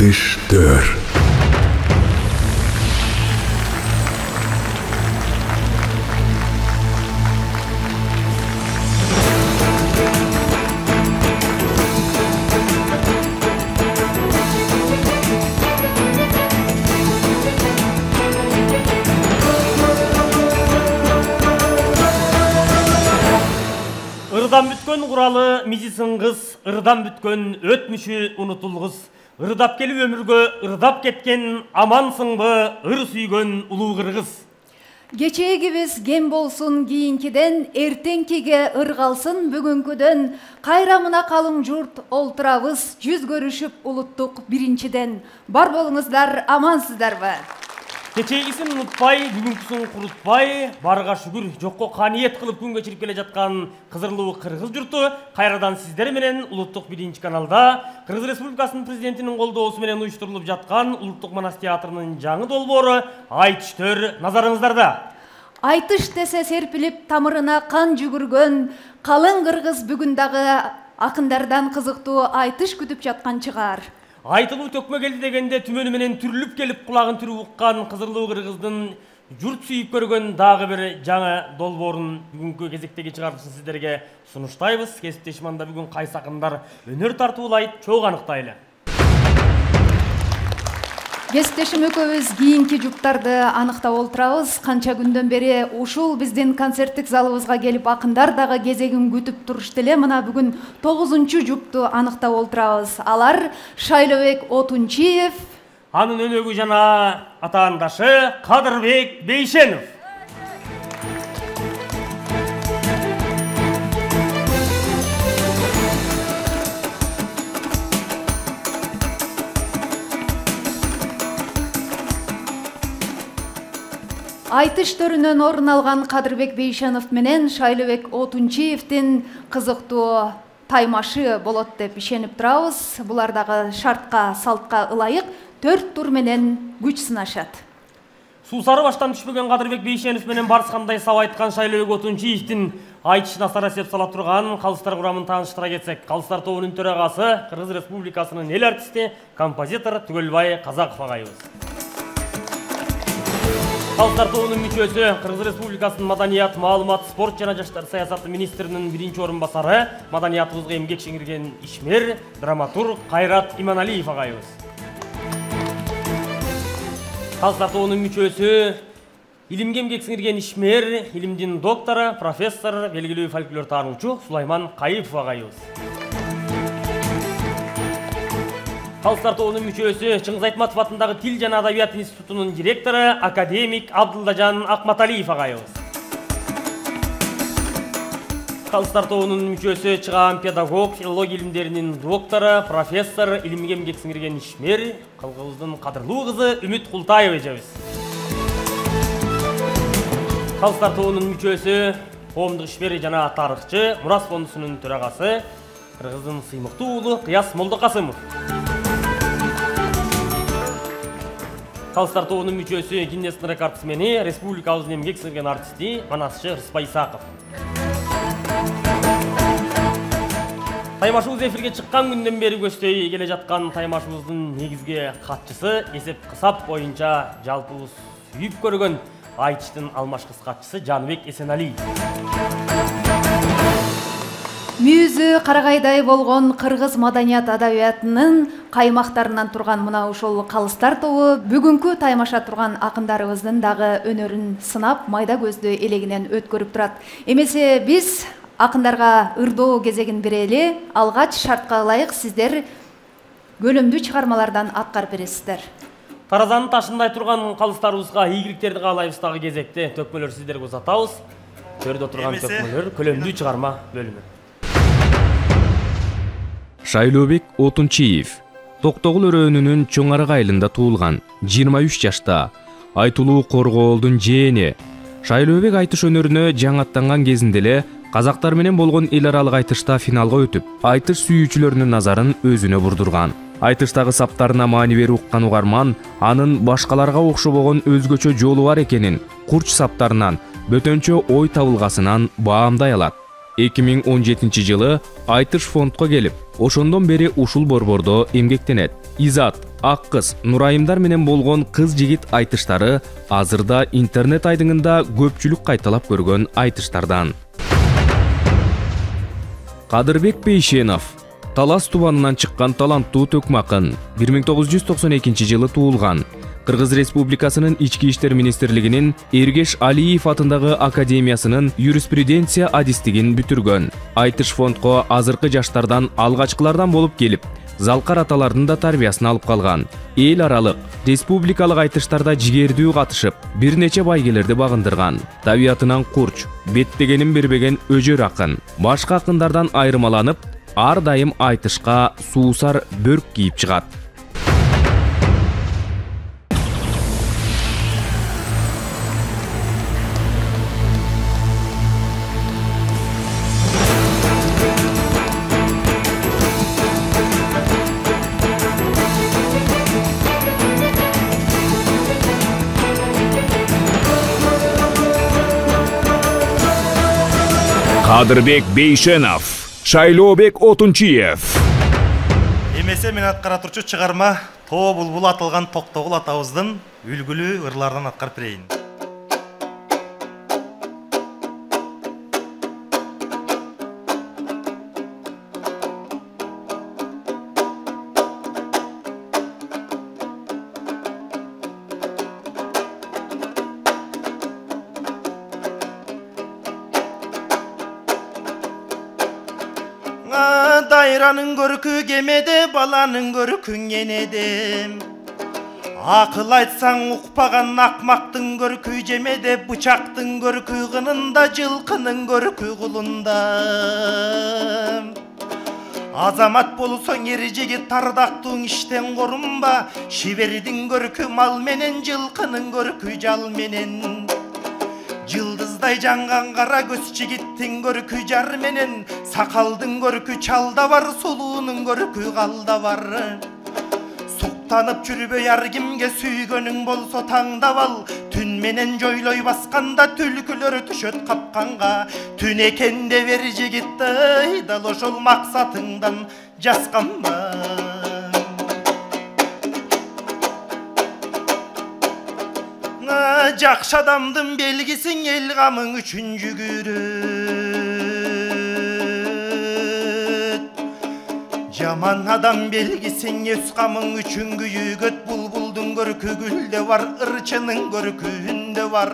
айтыштар. Ырдан бүткөн куралы мизисин кыз, ырдан бүткөн өтмүшү унутулгус. Ырдап келип өмүргө ырдап кеткен амансыңбы, ыр сүйгөн улуу кыргыз. Кечегибиз кем болсун кийинкиден, эртеңкиге ыр калсын бүгүнкүдөн. Кайрамына калың журт олтурабыз, жүз көрүшүп улуттук биринчиден. Бар болуңуздар, амансыздарбы? Кечегисин унутпай, бүгүнкүсүн курутпай, барга шүгүр, жокко каниет кылып күн кечирип келе жаткан кызырлуу кыргыз журту кайрадан сиздер менен улуттук биринчи каналда Кыргыз Республикасынын президентинин колдоосу менен уюштурулуп жаткан Улуттук Манас театрынын жаңы долбоору Айтыштар назарыңыздарда. Айтыш десе серпилип тамырына кан жүгүргөн калың кыргыз бүгүн дагы акындардан кызыктуу айтыш күтүп жаткан чыгар. Айтылуу төкмө келди дегенде түмөнү менен түрүлүп келип кулагын түрүп уккан кызырлуу кыргыздын журт сүйүп көргөн дагы бир жаңы долбоорун бүгүнкү кезектеги чыгарылышын сиздерге сунуштайбыз. Кесиптешим анда бүгүн кайсы акындар өнөр тартуулайт, чогуу аныктайлы. Кесиптешим экөөбүз кийинки жуптарды аныктап олтурабыз. Канча күндөн бери ушул биздин концерттик залыбызга келип акындар дагы кезегин күтүп турушту эле. Мына бүгүн 9-чу жупту аныктап олтурабыз. Алар Шайлообек Отунчиев, анын өнөгү жана атаандашы Кадырбек Бейшенов. Айтыш төрүнөн орун алган Кадырбек Бейшенов менен Шайлообек Отунчиевдин кызыктуу таймашы болот деп ишенип турабыз. Булар дагы шартка, салтка ылайык 4 тур менен күч сынашат. Суусары баштан түшпөгөн Кадырбек Бейшенов менен барскандай саб айткан Шайлообек Отунчиевдин айтышына асара сеп сала турган калыстар курамын тааныштыра кетсек, калыстар тобунун төрагасы Кыргыз Республикасынын эл артисти, композитор Түгөлбай Казаков агайыбыз. Калыстар тобунун мүчөсү Кыргыз Республикасынын маданият, маалымат, спорт жана жаштар саясаты министринин биринчи орун басары, маданиятыбызга эмгек сиңирген ишмер, драматург Кайрат Иманалиев агайыбыз. Калыстар тобунун мүчөсү илимге эмгек сиңирген ишмер, илимдин доктору, профессор, белгилүү фольклор таануучу Сулайман Кайыпов агайыбыз. Калыстар тобунун мүчөсү Чыңгыз Айтматов атындагы Тил жана Адабият институтунун директору, академик Абдылдажан Акматалиев агайыбыз. Калыстар тобунун мүчөсү чыгаан педагог, филология илимдеринин доктору, профессор, илимге эмгек сиңирген ишмер, калкыбыздын кадырлуу кызы Үмүт Култаева эжебиз. Калыстар тобунун мүчөсү коомдук ишмер жана тарыхчы, Мурас фондусунун төрагасы, кыргыздын сыймыктуу уулу Кыяс Молдокасымов. Калыстар тобунун мүчөсү Гиннестин рекордсмени, республикабыздын эмгек сиңирген артисти Манасчы Рыспай Исаков. Таймашыбыз эфирге чыккан күндөн бери көздөй келе жаткан таймашыбыздын негизги катчысы, эсеп-кысап боюнча жалпыбыз сүйүп көргөн айтыштын алмашкыс катчысы Жаныбек Эсеналиев. Мүйүзү карагайдай болгон кыргыз маданият адабиятынын каймактарынан турган мына ушул калыстар тобу бүгүнкү таймаша турган акындарыбыздын дагы өнөрүн сынап, майда көздүү элегинен өткөрүп турат. Эмесе биз акындарга ырдоо кезегин берели. Алгач шартка ылайык сиздер көлөмдүү чыгармалардан аткарып бересиздер. Таразанын ташындай турган калыстарыбызга ийгиликтерди каалайбыз дагы кезекте төкмөлөр сиздерге узатабыз. Төрдө турган төкмөлөр көлөмдүү чыгарма бөлүмү. Шайлообек Отунчиев Токтогул өрөөнүнүн Чоң Арак айылында туулган, 23 жашта, айтылуу коргоолдун жээни. Шайлообек айтыш өнөрүнө жаңаттанган кезинде эле казактар менен болгон эл аралык айтышта финалга өтүп, айтыш сүйүүчүлөрүнүн назарын өзүнө бурдурган. Айтыштагы саптарына маани берип уккан угарман анын башкаларга окшобогон өзгөчө жолу бар экенин, курч саптарынан, бөтөнчө ой табылгасынан баамдай алат. 2017-жылы Айтыш фондко келип, ошондон бери ушул борбордо эмгектенет. Изат ак кыз Нурайымдар менен болгон кыз-жигит айтыштары азырда интернет айдыңында көпчүлүк кайталап көргөн айтыштардан. Кадырбек Бейшенов Талас тубанынан чыккан таланттуу төкмакын 1992 жылы туулган. Кыргыз Республикасынын Ички иштер министрлигинин Эргеш Алиев атындагы академиясынын юриспруденция адистигин бүтүргөн. Айтыш фондко азыркы жаштардан алгачкылардан болуп келип, залкар аталардын да тарбиясын алып калган. Эл аралык, республикалык айтыштарда жигердүү катышып, бир нече байгелерди багындырган. Табиятынан курч, беттегенин бербеген өжөр акын. Башка акындардан айырмаланып, ар дайым айтышка суусар бөрк кийип чыгат. Кадырбек Бейшенов, Шайлообек Отунчиев. Эмесе мен аткара турчу чыгарма Тоо булбул атылган Токтогул атабыздын үлгүлүү ырларынан аткарып берейин. Дайранын көркү кемеде, баланын көркүн энеде. Акыл айтсаң укпаган акмактын көркү жемеде, бычактын көркү кынында, жылкынын көркү кулунда. Азамат болсоң эр жигит тардактың иштен корунба, шибердин көркү мал менен, жылкынын көркү жал менен. Жылдыздай жанган кара көз жигиттин көркү жар менен, сакалдын көркү чалда бар, сулуунун көркү калда бар. Суктанып жүрбөй ар кимге, сүйгөнүң болсо таңдап ал. Түн менен жойлой басканда, түлкүлөр түшөт капканга. Түн экенде бер жигитти, дал ошол максатыңдан жасканба. Жакшы адамдын белгисиң, эл камың үчүн жүгүрөт. Жаман адам белгисиң, өз камың үчүн күйүгөт. Булбулдун көркү гүлдө бар, ырчынын көркү үндө бар.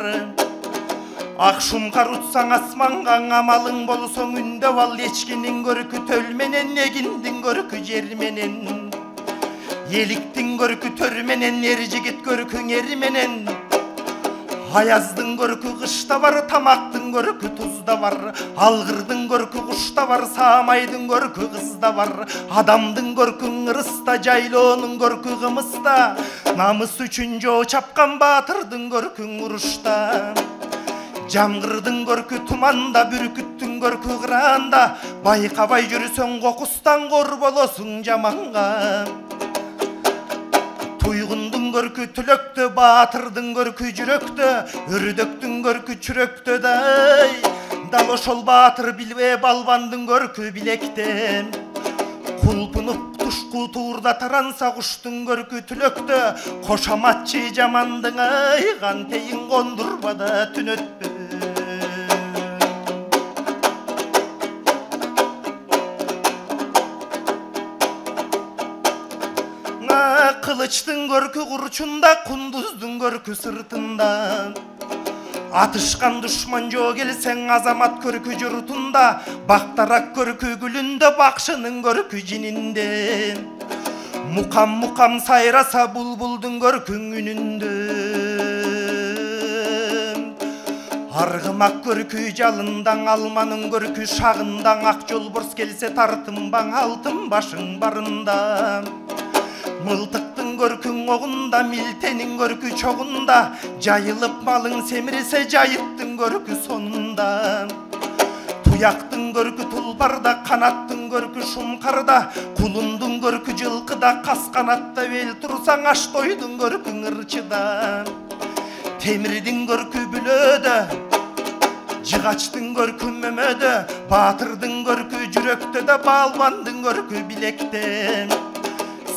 Ак шумкар утсаң асманга, амалың болсоң үндө ал. Эчкинин көркү төл менен, эгиндин көркү жер менен. Эликтин көркү төр менен, эр жигит көркүң эр менен. Аяздын көркү кышта бар, тамактын көркү тузда бар. Алгырдын көркү кушта бар, саамайдын көркү кызда бар. Адамдын көркүн ырыста, жайлоонун көркү кымыста. Намыс үчүн жоо чапкан баатырдын көркүн урушта. Жамгырдын көркү туманда, бүркүттүн көркү кыранда. Байкабай жүрсөң кокустан, кор болосуң жаманга. Туйгундун көркү түлөктө, баатырдын көркү жүрөктө. Өрдөктүн көркү чүрөктө дай. Дал ошол баатыр билбе, балбандын көркү билекте. Кулпунуп тушку туурда таранса, куштун көркү түлөктө. Кошаматчы жамандың айган тейин кондурбада түн өтпө. Кылычтын көркү курчунда, кундуздун көркү сыртында. Атышкан душман жоо келсең, азамат көркү журтунда. Бактарак көркү гүлүндө, бакшынын көркү жининде. Мукам сайраса, булбулдун көркүн үнүндө. Аргымак көркү жалындаң, алманын көркү шагындаң. Ак жолборс келсе тартынбаң, алтын башың барында. Мылтыктын көркүң огунда, милтенин көркү чогунда. Жайылып малың семирсе, жайыттын көркү сонунда. Туяктын көркү тулпарда, канаттын көркү шумкарда. Кулундун көркү жылкыда, кас канатта бел турсаң, аш тойдун көркүң ырчыда. Темирдин көркү бүлөдө, жыгачтын көркү мөмөдө. Баатырдын көркү жүрөктө да, балбандын көркү билекте.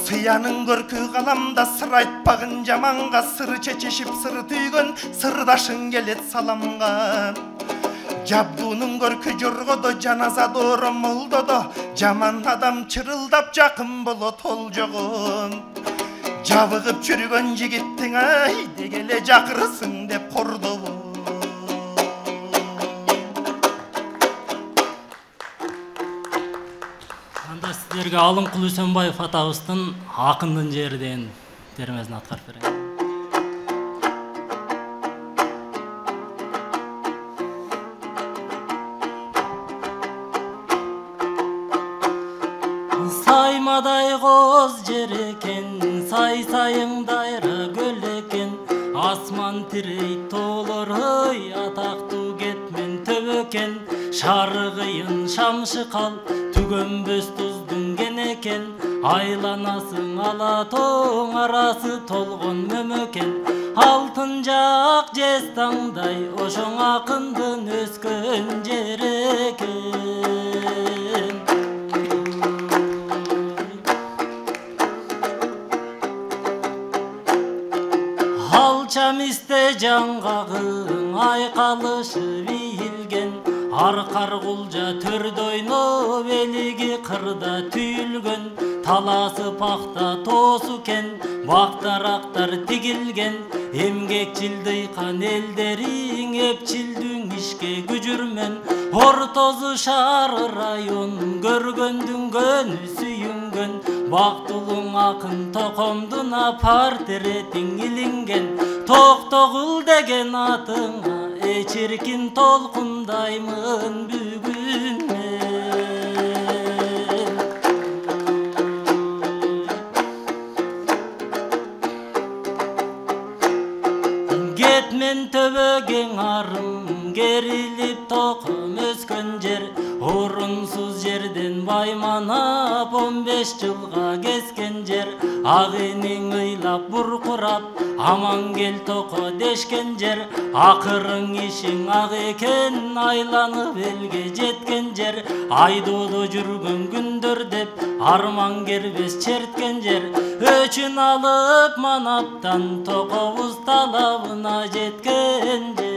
Сыянын көркү каламда сыр айтпагын жаманга, сыр чечишип сыр түйгөн сырдашың келет саламга. Жабдуунун көркү жоргодо, жаназа доору молдодо, жаман адам чырылдап жакын болот ол жогу. Жабыгып жүргөн жигиттиң айде келе жакырсың деп кордобу. Анда сиздерге Алымкул Үсөнбаев атабыздын Акындын жери деген термесин аткарып берейин. Саймадай коз жер экен, сайыңдайра көл экен, асман тирей тоолор ой, атактуу кетмен төбө экен, шары кыйын шамшы кал, түгөнбөс туздун кен экен, айланасың ала тоң, арасы толгон мөмө экен, алтын жак жестаңдай ошоң акындын өскөн жери экен. Алчамисте жаңгагың айкалышып ийилген, аркар кулжа төрдө ойноп элиги кырда түйүлгөн, таласы пахта тоосу кен, бактарактар тигилген, эмгекчил дыйкан элдериң эпчилдүң ишке күжүрмөн, ортосу шаар район көргөндүн көнү сүйүнгөн, бактылуң акын токомдуна портеретиң илинген, токтогул деген атыңа эчиркин толкундаймын бүгүн мен. Кетмен төбөгең арым, керилип током өскөн жер, орунсуз жерден байманап 15 жылга кескен жер, ак эниң ыйлап буркурап, аман кел токо дешкен жер, акырың ишиң ак экен, айланып элге жеткен жер, айдоодо жүргөн күндөр деп арман кербес черткен жер, өчүн алып манаптан токобуз талабына жеткен жер.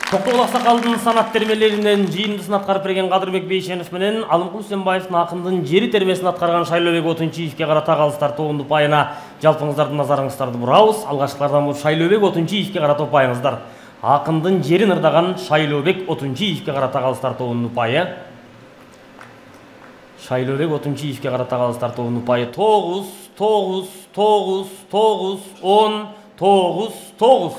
Токтогул Аксакалдын санат термелеринен жыйындысын аткарып берген Кадырбек Бейшенов менен Алымкул Үсөнбаевдин Акындын жери термесин аткарган Шайлообек Отунчиевке карата калыстар тобунун упайына жалпыңыздардын назарыңыздарды бурабыз. Алгачкылардан бул Шайлообек Отунчиевке карата упайыңыздар. Акындын жерин ырдаган Шайлообек Отунчиевке карата калыстар тобунун упайы. Шайлообек Отунчиевке карата калыстар тобунун упайы 9, 9, 9, 9, 10, 9, 9.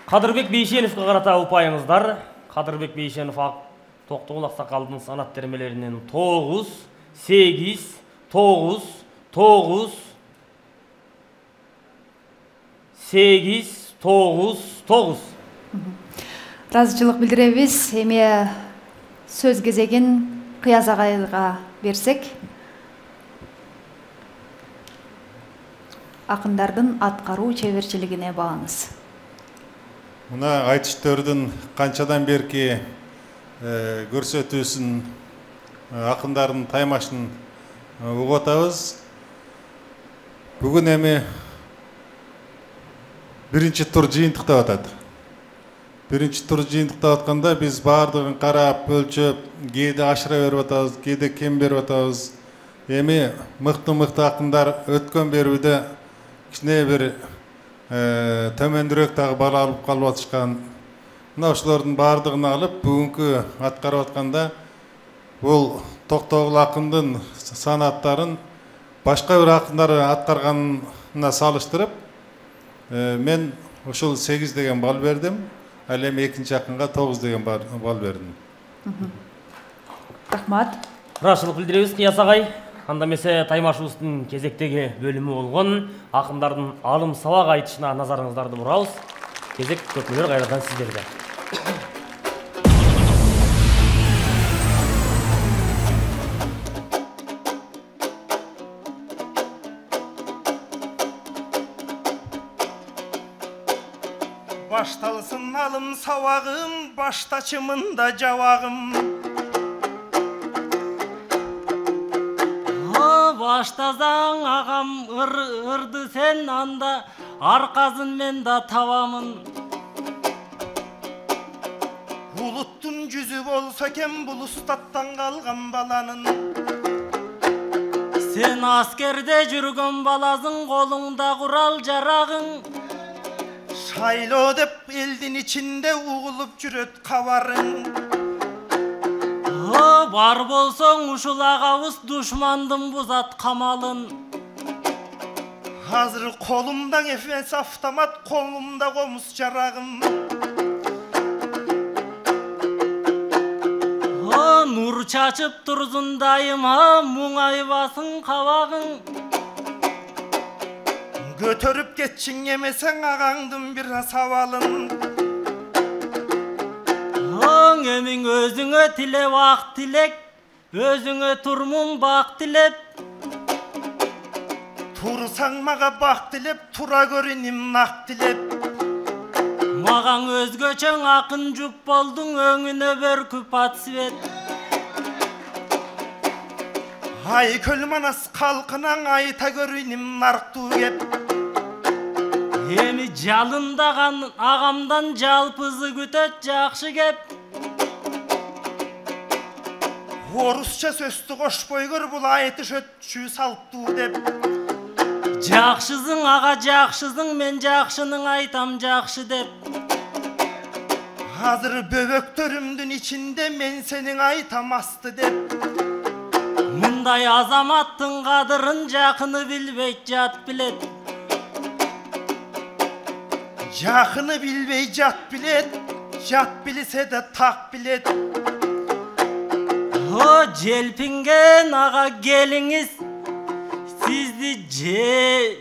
Кадырбек Бейшеновке карата упайыңыздар. Кадырбек Бейшенов Токтогул Аксакалдын санат термелеринен 9, 8, 9, 9, 8, 9, 9. Ыраазычылык билдиребиз. Эми сөз кезегин Кыяз агайга берсек. Акындардын аткаруу чеберчилигине бааңыз. Мына айтыштардын канчадан берки көрсөтүүсүн, акындардын таймашын угуп атабыз. Бүгүн эми биринчи тур жыйынтыктап атат. Биринчи тур жыйынтыктап атканда биз баардыгын карап, өлчөп, кээде ашыра берип атабыз, кээде кем берип атабыз. Эми мыкты акындар өткөн берүүдө кичине бир төмөндүрөөк дагы бала алып калып атышкан. Мына ошолордун баардыгын алып, бүгүнкү аткарып атканда бул Токтогул акындын санаттарын башка бир акындар аткарганына салыштырып, мен ошол 8 деген балл бердим. Ал эми экинчи акынга 9 деген балл бердим. Рахмат. Ыраазычылык билдиребиз Кыяз агай. Анда эмесе таймашыбыздын кезектеги бөлүмү болгон акындардын алым сабак айтышына назарыңыздарды бурабыз. Кезек көпмөлөр кайрадан сиздерде. башталсын алым сабагым, баштачымында жабагым. Баштасаң агам ырды сен, анда аркасын мен да табамын. Булуттун жүзү болсо экен бул устаттан калган баланын. Сен аскерде жүргөн баласың, колуңда курал жарагың. Шайлоо деп элдин ичинде угулуп жүрөт кабарың. Бар болсоң ушул агабыз душмандын бузат камалын. Азыр колумда эфес автомат, колумда комуз жарагым. Нур чачып турсун дайыма, муңайбасын кабагың. Көтөрүп кетчиң эмесең агаңдын бир сабалын. Эмиң өзүңө тилеп ак тилек, өзүңө турмун бак тилеп. Турсаң мага бак тилеп, тура көрүнүм нак тилеп. Маган өзгөчөң акын жуп болдуң, өңүнө бөркүп ат свет. Ай көл манас калкынан айта көрүнүм нарктуу кеп. Эми жалындаган агамдан жалпызы күтөт жакшы кеп. Орусча сөздү кошпой көр, бул айтыш өтчү салттуу деп. Жакшысың ага жакшысың, мен жакшының айтам жакшы деп. Азыр бөбөктөрүмдүн ичинде мен сенин айтам асты деп. Мындай азаматтын кадырын жакыны билбейт, жат билет. Жакыны билбей жат билет, жат билсе да так билет. Желпинген ага келиңиз, сизди же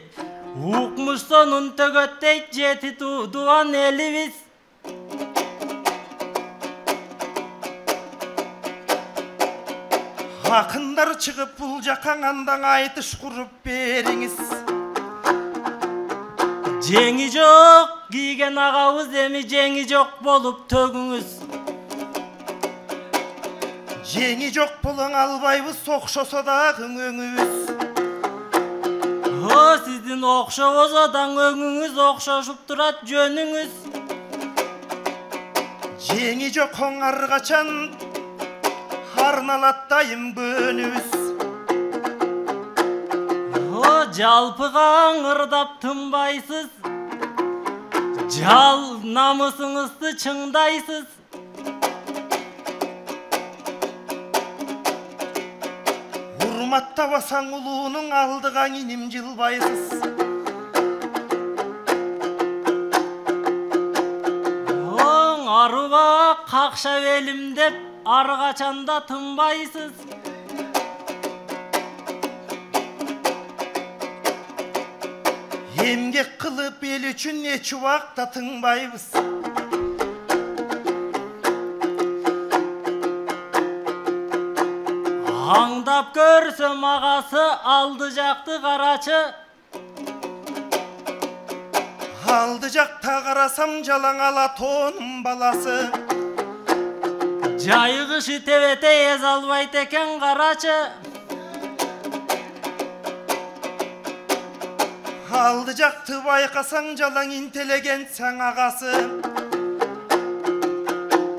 укмуштон үнтөгөттейт жети туудуан элибиз. Акындар чыгып бул жакка андан айтыш куруп бериңиз. Жеңи жок кийген агабыз, эми жеңи жок болуп төгүңүз. Жеңи жок болоң албайбыз, окшосо дагы өңүбүз. Сиздин окшобосо да өңүңүз, окшошуп турат жөнүңүз. Жеңи жок оң ар качан арналат дайым көнүбүз. Жалпыга ырдап тынбайсыз, жал намысыңызды чыңдайсыз. Урматтабасаң улуунун алдыга иним жылбайсыз. Арыба какша белим деп ар качанда тынбайсыз. Эмгек кылып эл үчүн эч убакта тыңбайбыз. Аңдап көрсөм агасы, алды жакты карачы. Алды жакта карасам жалаң ала тоонун баласы. Жайыгышы тебете эз албайт экен карачы. Алды жакты байкасаң жалаң интеллигенцияң агасы.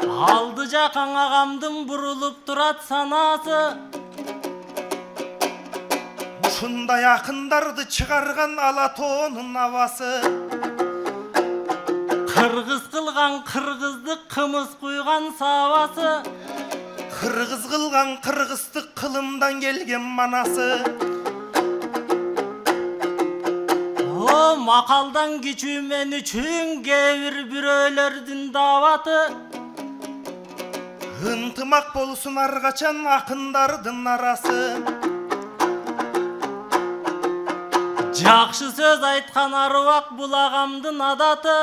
Алды жакаң агамдын бурулуп турат санасы. Ушундай акындарды чыгарган ала тоонун абасы. Кыргыз кылган кыргызды кымыз куйган сабасы. Кыргыз кылган кыргыздык кылымдан келген манасы. Макалдан кичүү мен үчүн кээ бир бирөөлөрдүн дааваты. Ынтымак болсун ар качан акындардын арасы. Жакшы сөз айткан арыбак бул агамдын адаты.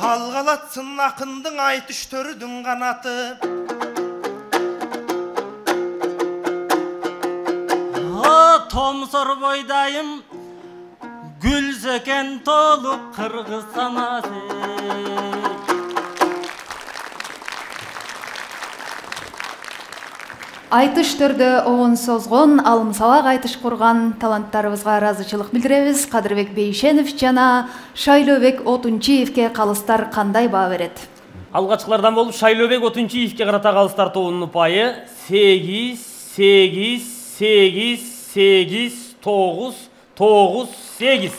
Алгалатсын акындын айтыштөрүдүн канаты. Томсор бойдайым гүлсөкен толуп кыргыз санасы. Айтыш төрдө оон созгон, алым сабак айтыш курган таланттарыбызга ыраазычылык билдиребиз. Кадырбек Бейшенов жана Шайлообек Отунчиевке калыстар кандай баа берет? Алгачкылардан болуп Шайлообек Отунчиевке карата калыстар тобунун упайы 8, 8, 8, 8, 9, 9, 8.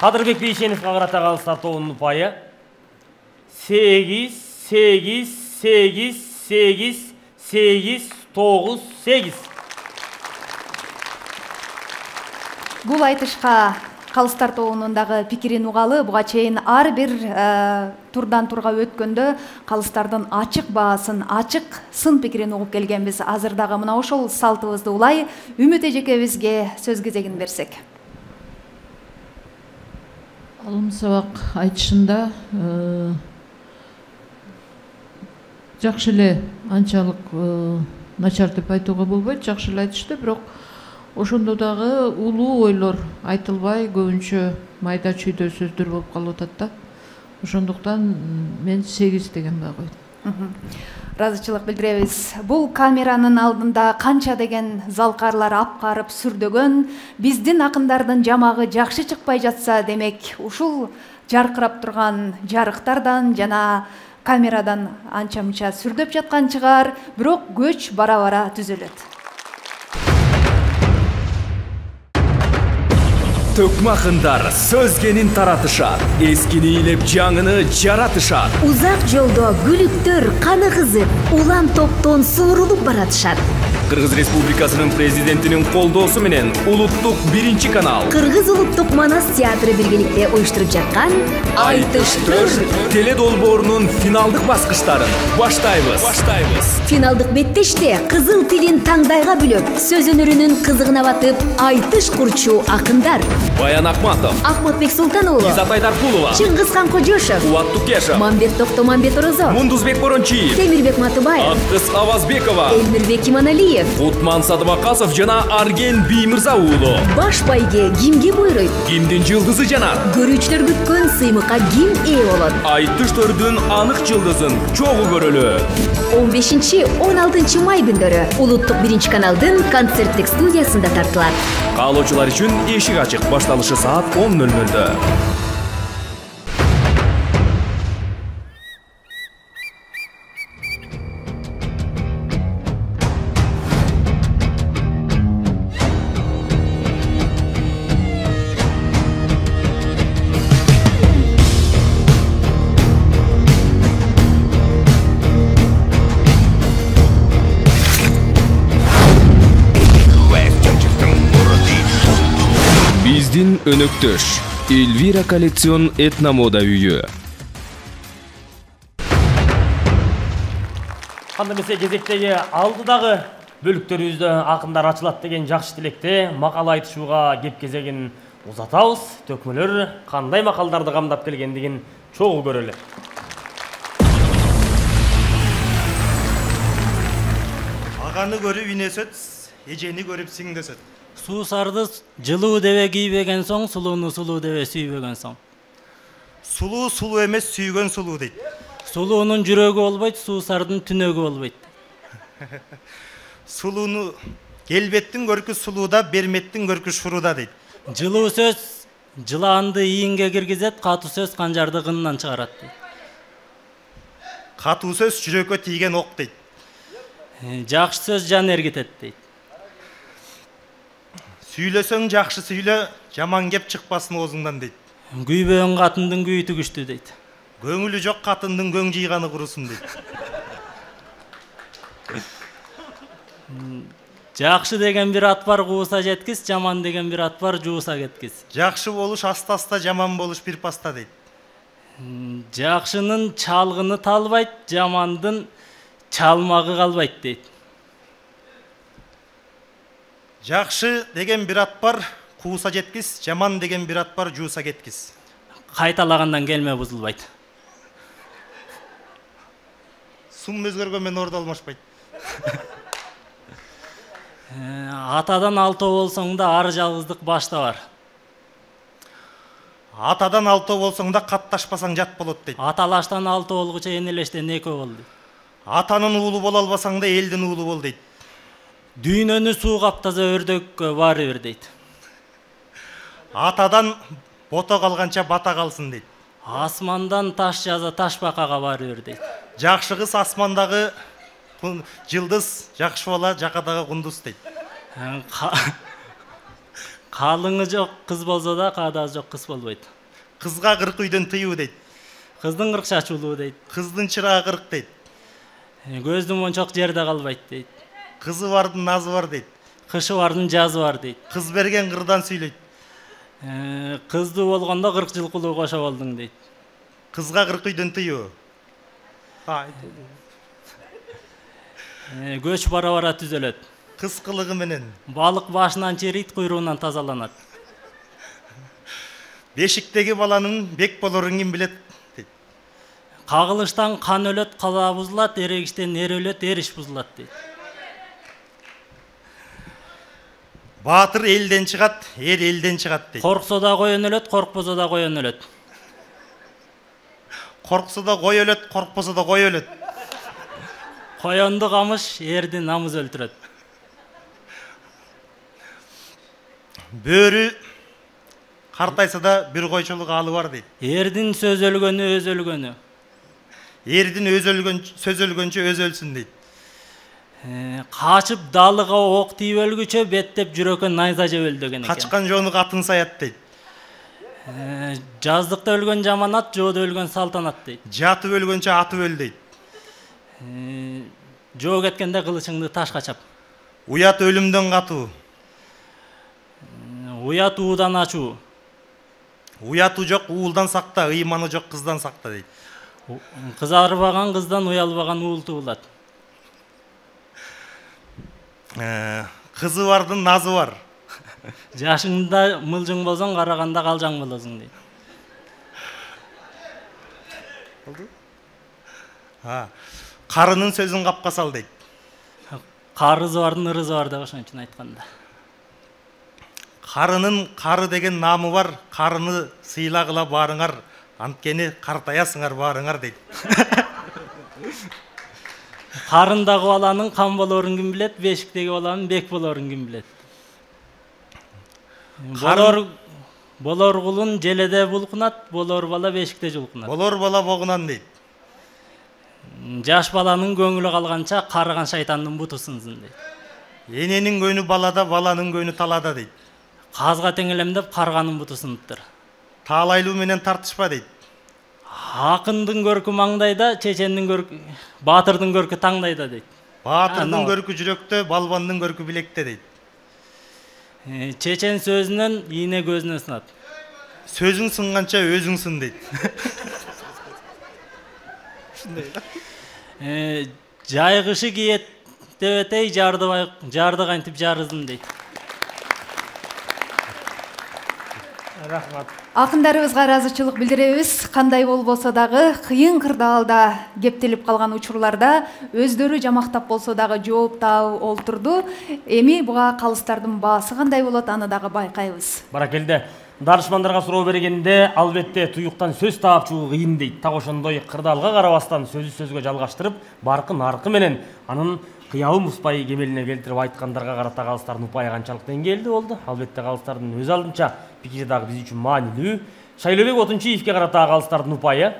Кадырбек Бейшеновке карата калыстар тобунун упайы 8, 8, 8, 8, 8, 9, 8. Бул айтышка калыстар тобунун дагы пикирин угалы. Буга чейин ар бир турдан турга өткөндө калыстардын ачык баасын, ачык сын пикирин угуп келгенбиз. Азыр дагы мына ошол салтыбызды улай Үмүт эжекебизге сөз кезегин берсек. Алым сабак айтышында жакшы эле, анчалык начар деп айтууга болбойт, жакшы эле айтышты, бирок ошондо дагы улуу ойлор айтылбай, көбүнчө майда чүйдө сөздөр болуп калып атат да. Ошондуктан мен 8 деген баа койдум. Ыраазычылык билдиребиз. Бул камеранын алдында канча деген залкарлар апкарып сүрдөгөн, биздин акындардын жамагы жакшы чыкпай жатса, демек ушул жаркырап турган жарыктардан жана камерадан анча мынча сүрдөп жаткан чыгар, бирок көч бара-бара түзөлөт. Төкмө акындар сөзгенин таратышат, эскини илеп жаңыны жаратышат. Узак жолдо күлүктөр каны кызып, улам топтон суурулуп баратышат. Кыргыз Республикасынын президентинин колдоосу менен улуттук 1 канал Кыргыз улуттук Манас театры биргеликте уюштуруп жаткан Айтыштыр теле долбоорунун финалдык баскычтарын баштайбыз. Финалдык беттеште кызыл тилин таңдайга бүлөп, сөз өнөрүнүн кызыгына батып, айтыш курчу акындар Баян Акматов, Ахматбек Султан уулу, Изат Айдаркулова, Чыңгызхан Кожошев, Кубат Тукешев, Мамбет Токтомамбет Орозо, Мундузбек Борончиев, Темирбек Матыбаев, Аккыз Авазбекова, Элмирбек Иманалиев, Утман Садыбакасов жана Арген Биймырза уулу. Баш байге кимге буйруйт? Кимдин жылдызы жанат? Көрүүчүлөр күткөн сыймыкка ким ээ болот? Айтыштөрдүн анык жылдызын чогуу көрөлү. 15-16 май күндөрү улуттук 1 каналдын концерттик студиясында тартылат. Каалоочулар үчүн эшик ачык, башталышы саат 10:00. Биздин өнөктөш Эльвира коллекцион этномода үйү. Кандай эмесе кезектеги алдыдагы бөлүктөрүбүздө акындар ачылат деген жакшы тилекте макал айтышууга кеп кезегин узатабыз. Төкмөлөр кандай макалдарды камдап келгендигин чогуу көрөлү. Аганы көрүп инесөт, эжени көрүп сиңдесөт. Суусарды жылуу дебе кийбеген соң, сулууну сулуу дебе сүйбөгөн соң. Сулуу сулуу эмес, сүйгөн сулуу дейт. Сулуунун жүрөгү болбойт, суусардын түнөгү болбойт. Сулууну келбеттин көркү сулууда, берметтин көркү шурууда дейт. Жылуу сөз жылаанды ийинге киргизет, катуу сөз канжарды кынынан чыгарат дейт. Катуу сөз жүрөккө тийген ок дейт. Жакшы сөз жан эргитет дейт. Сүйлөсөң жакшы сүйлө, жаман кеп чыкпасын оозуңдан дейт. Күйбөгөн катындын күйү түгүштү дейт. Көңүлү жок катындын көң жыйганы курусун дейт. Жакшы деген бир ат бар, кууса жеткис, жаман деген бир ат бар, жууса кеткис. Жакшы болуш аста-аста, жаман болуш бир паста дейт. Жакшынын чалгыны талбайт, жамандын чалмагы калбайт дейт. Жакшы деген бир ат бар, кууса жеткис, жаман деген бир ат бар, жууса кеткис. Кайталагандан келме бузулбайт. Сум өзгөргөн менен орду алмашпайт. Атадан алтоо болсоң да ар жалгыздык башта бар. Атадан 6 болсоң да катташпасаң жат болот дейт. Аталаштан 6 болгуча энелештен 2 болду. Атанын уулу боло албасаң да элдин уулу бол дейт. Дүйнөнү суу каптаса өрдөккө баары бир дейт. Атадан бото калганча бата калсын дейт. Асмандан таш жаза таш бакага баары бир дейт. Жакшы кыз асмандагы жылдыз, жакшы бала жакадагы кундуз дейт. Калыңы жок кыз болсо да каадасы жок кыз болбойт. Кызга 40 үйдөн тыюу дейт. Кыздын 40 чачуулуу дейт. Кыздын чырагы 40 дейт. Көздүн мончок жерде калбайт дейт. Кызы бардын назы бар дейт. Кышы бардын жазы бар дейт. Кыз берген кырдан сүйлөйт. Кыздуу болгондо 40 жылкылуу кошо болдуң дейт. Кызга 40 үйдөн тыюу. Көч бара-бара түзөлөт. Кыз кылыгы менен. Балык башынан чирийт, куйруунан тазаланат. Бешиктеги баланын бек болорун ким билет дейт. Кагылыштан кан өлөт, кала бузулат, эрегиштен эр өлөт, эриш бузулат дейт. Баатыр элден чыгат, эр элден чыгат дейт. Корксо да коен өлөт, коркпосо да коен өлөт. Корксо да кой өлөт, коркпосо да кой өлөт. Коенду камыш, эрди намыз өлтүрөт. Бөрү картайса да бир койчолук алы бар дейт. Эрдин сөз өлгөнү өз өлгөнү. Эрдин сөз өлгөнчө өз өлсүн дейт. Качып далыга ок тийип өлгүчө беттеп жүрөккө найза жеп өл деген экен. Качкан жоону катын саят дейт. Жаздыкта өлгөн жаманат, жоодо өлгөн салтанат дейт. Жатып өлгөнчө атып өл дейт. Жоо кеткенде кылычыңды ташка чап. Уят өлүмдөн катуу. Уят уудан ачуу. Уяту жок уулдан сакта, ыйманы жок кыздан сакта дейт. Кызарбаган кыздан уялбаган уул туулат. Кызы бардын назы бар. Жашыңда мылжың болсоң, караганда калжаң болосуң дейт. Карынын сөзүн капка сал дейт. Карызы бардын ырызы бар деп ошон үчүн айтканда. Карынын кары деген намы бар, карыны сыйлагыла баарыңар, анткени картаясыңар баарыңар дейт. Карындагы баланын кан болорун ким билет, бешиктеги баланын бек болорун ким билет. Болор кулун желеде булкунат, болор бала бешикте жулкунат. Болор бала богунан дейт. Жаш баланын көңүлү калганча карыган шайтандын буту сынсын дейт. Эненин көңү балада, баланын көңү талада дейт. Казга теңелемдеп карганын буту сыныптыр. Таалайлуу менен тартышпа дейт. Акындын көркү маңдайда, чечендин көркү, баатырдын көркү таңдайда дейт. Баатырдын көркү жүрөктө, балбандын көркү билекте дейт. Чечен сөзүнөн ийне көзүнө сынат. Сөзүң сынганча өзүң сын дейт. Жайгышы киет дебетей жарды кантип жарызын дейт. Рахмат. Акындарыбызга ыраазычылык билдиребиз. Кандай болбосо дагы кыйын кырдаалда кептелип калган учурларда өздөрү жамактап болсо дагы жооп таап олтурду. Эми буга калыстардын баасы кандай болот, аны дагы байкайбыз. Баракелде. Дарышмандарга суроо бергенде албетте туюктан сөз таап чыгуу кыйын дейт. Так ошондой кырдаалга карабастан сөзү сөзгө жалгаштырып, баркын аркы менен анын кыябын бузбай кемелине келтирип айткандарга карата калыстардын упайы канчалык деңгээлде болду? Албетте калыстардын өз алдынча пикири дагы биз үчүн маанилүү. Шайлообек Отунчиевке карата калыстардын упайы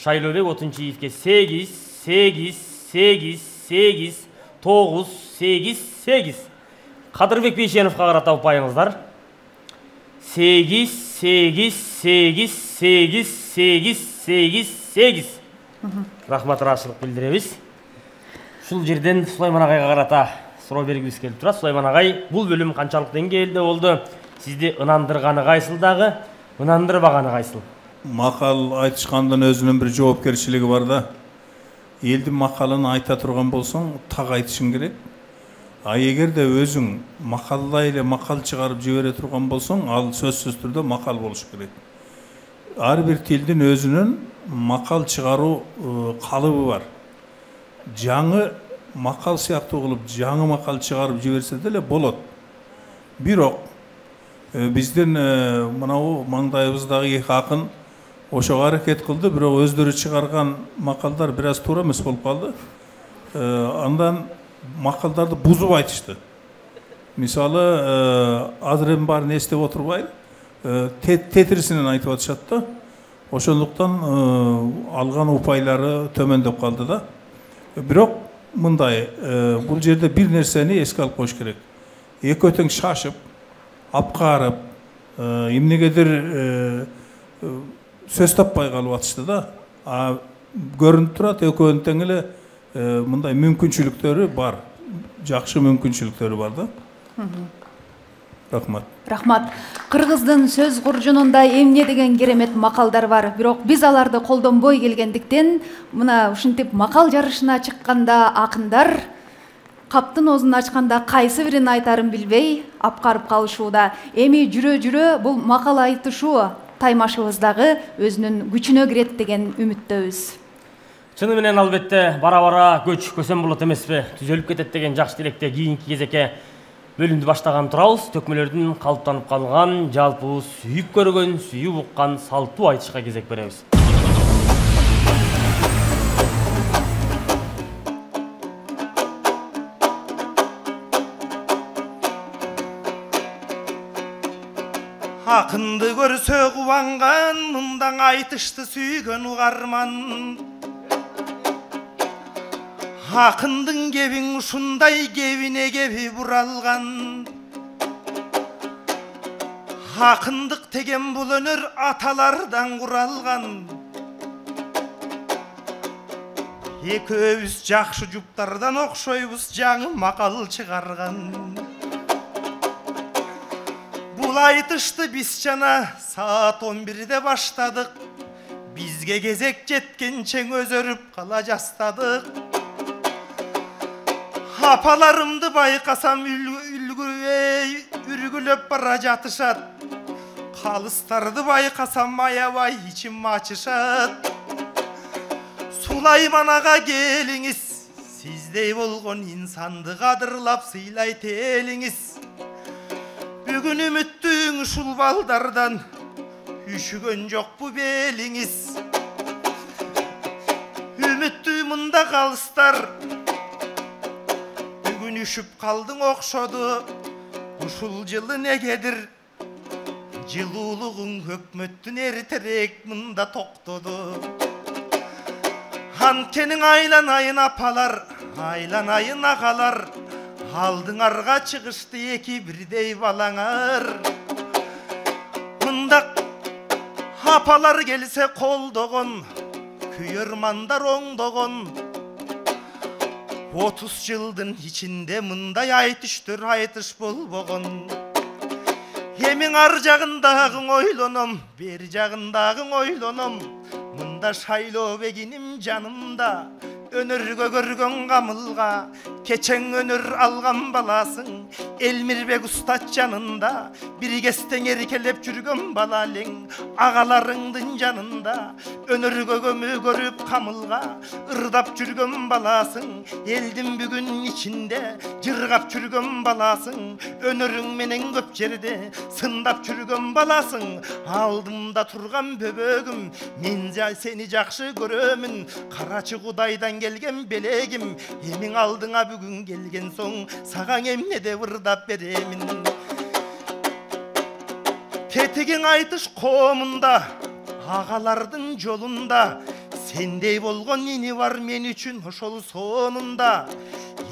Шайлообек Отунчиевке 8, 8, 8, 8, 9, 8, 8. Кадырбек Бейшеновго карата упайыңыздар 8, 8, 8, 8, 8, 8, 8. Рахмат, ыраазычылык билдиребиз. Ушул жерден Сулайман агайга карата суроо бергибиз келип турат. Сулайман агай, бул бөлүм канчалык деңгээлде болду? Сизди ынандырганы кайсыл дагы, ынандырбаганы кайсыл? Макал айтышкандын өзүнүн бир жоопкерчилиги бар да. Элдин макалын айта турган болсоң, так айтышың керек. А эгерде өзүң макалдай эле макал чыгарып жибере турган болсоң, ал сөзсүз түрдө макал болуш керек. Ар бир тилдин өзүнүн макал чыгаруу калыбы бар. Жаңы макал сыяктуу кылып, жаңы макал чыгарып жиберсе деле болот. Бирок Бизден мынау маңдайыбыздагы эки акын ошого аракет кылды, бирок өздөрү чыгарган макалдар бир аз туура эмес болуп калды. Андан макалдарды бузуп айтышты. Мисалы, азыр эми баарын эстеп отурбайм, тетрисинен айтып атышат да. Ошондуктан алган упайлары төмөндөп калды да. Бирок мындай, бул жерде бир нерсени эске алып коюш керек. Экөө тең шашып, апкарып, эмнегедир сөз таппай калып атышты да. Көрүнүп турат, экөөнүн тең эле мындай мүмкүнчүлүктөрү бар. Жакшы мүмкүнчүлүктөрү бар да. Рахмат. Рахмат. Кыргыздын сөз куржунунда эмне деген керемет макалдар бар. Бирок биз аларды колдонбой келгендиктен, мына ушинтип макал жарышына чыкканда акындар каптын оозун ачканда кайсы бирин айтарын билбей апкарып калышууда. Эми жүрө-жүрө бул макал айтышуу таймашыбыз дагы өзүнүн күчүнө кирет деген үмүттөбүз. Чыны менен албетте бара-бара көч көсөм болот эмеспи? Түзөлүп кетет деген жакшы тилекте кийинки кезекке бөлүмдү баштаган турабыз. Төкмөлөрдүн калыптанып калган, жалпыбыз сүйүп көргөн, сүйүп уккан салтуу айтышка кезек беребиз. Акынды көрсө кубанган, мындан айтышты сүйгөн угарман. Акындын кебиң ушундай, кебине кеби буралган. Акындык деген бул өнөр аталардан куралган. Экөөбүз жакшы жуптардан окшойбуз, жаңы макал чыгарган. Бул айтышты биз жана саат 11-де баштадык. Бизге кезек жеткенче өзөрүп кала жастадык. Апаларымды байкасам үргүлөп бара жатышат. Калыстарды байкасам аябай ичим ачышат. Сулайман ага келиңиз, сиздей болгон инсанды кадырлап сыйлайт элиңиз. Бүгүн үмүттүң ушул балдардан үшүгөн жокпу белиңиз. Үмүттүү мында калыстар, бүгүн үшүп калдың окшоду. Ушул жылы негедир жылуулугуң өкмөттүн эртерээк мында токтоду. Анткени айланайын апалар, айланайын агалар, алдыңарга чыгышты эки бирдей балаңар. Мындак апалар келсе колдогон, күйөрмандар оңдогон. 30 жылдын ичинде мындай айтыштыр айтыш болбогон. Эмиң ар жагындагың ойлоном, бер жагындагың ойлоном. Мында Шайлообегиним жанымда, өнөргө көргөн камылга, кечең өнөр алган баласың. Элмирбек устат жанында, бир кестең эркелеп жүргөн бала элең. Агаларыңдын жанында, өнөргө көмүү көрүп камылга, ырдап жүргөн баласың. Элдин бүгүн ичинде жыргап жүргөн баласың. Өнөрүң менен көп жерде сындап жүргөн баласың. Алдымда турган бөбөгүм, мен сени жакшы көрөмүн. Карачы Кудайдан келген белегим, эмиң алдыңа бүгүн келген соң, сагаң эмне деп ырдап беремин. Кетигиң айтыш коомунда, агалардын жолунда, сендей болгон ини бар мен үчүн ошол сонунда.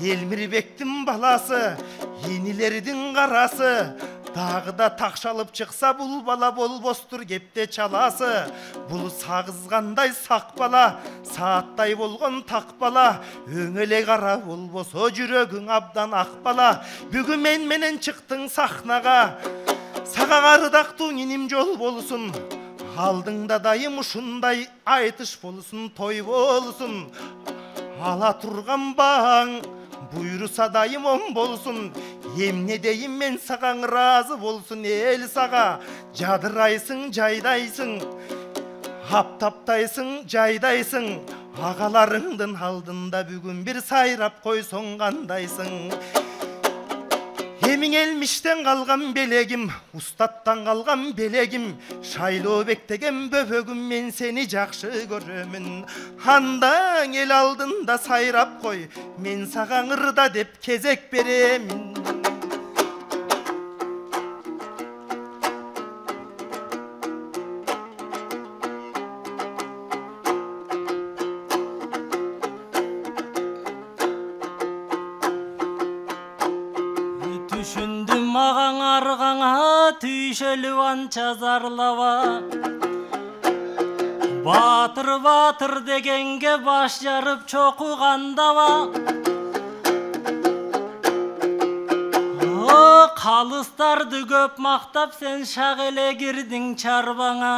Элмирбектин баласы, инилердин карасы, дагы да такшалып чыкса бул бала болбостур кепте чаласы. Бул сагызгандай сак бала, сааттай болгон так бала. Өңөле кара болбосо жүрөгүң абдан ак бала. Бүгүн мен менен чыктың сахнага, сага ардактуу иним жол болсун. Алдыңда дайым ушундай айтыш болсун, той болсун. Ала турган баң буйруса дайым он болсун. Эмне дейм мен сагаң ыраазы болсун эл сага. Жадырайсың, жайдайсың, аптаптайсың, жайдайсың. Агаларыңдын алдында бүгүн бир сайрап койсоң кандайсың. Эмиң элмиштен калган белегим, устаттан калган белегим, Шайлообек деген бөбөгүм, мен сени жакшы көрөмүн. Андаң эл алдында сайрап кой, мен сага ырда деп кезек беремин. Түшүндүм маған аргаңа, түйшөлүп анча зарлаба. Батыр батыр дегенге баш жарып чокугандаба. О, калыстарды көп мактап, сен шак эле кирдиң чарбаңа.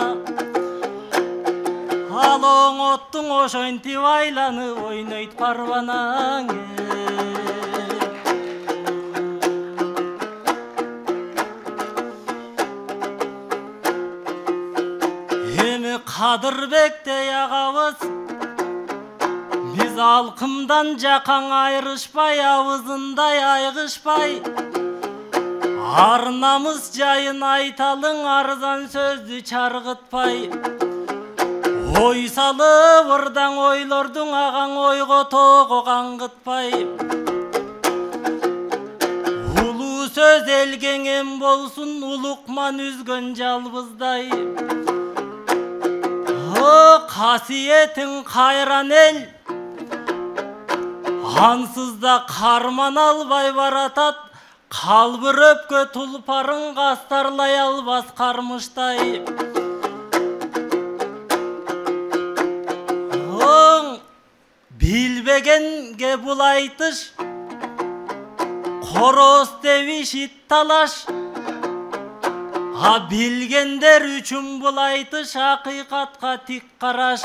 Ал оңоттуң ошентип айланып ойнойт парбанаң. Кадырбектей агабыз, биз алкымдан жакаң айрышпай, абызындай айгышпай, арнамыз жайын айталың, арзан сөздү чаргытпай. Ой салып ырдаң ойлордуң, агаң ойго тоого каңгытпай. Улуу сөз элге эң болсун, улукман үзгөн жалбыздай. Касиетің кайран ел, ансыз да карман албай баратат, калбырөпкө тулпарын кастарлай албас кармыштай. Оң билбегенге бул айтыш, короз тебиш ит талаш. Билгендер үчүн бул айтыш, акыйкатка тик караш.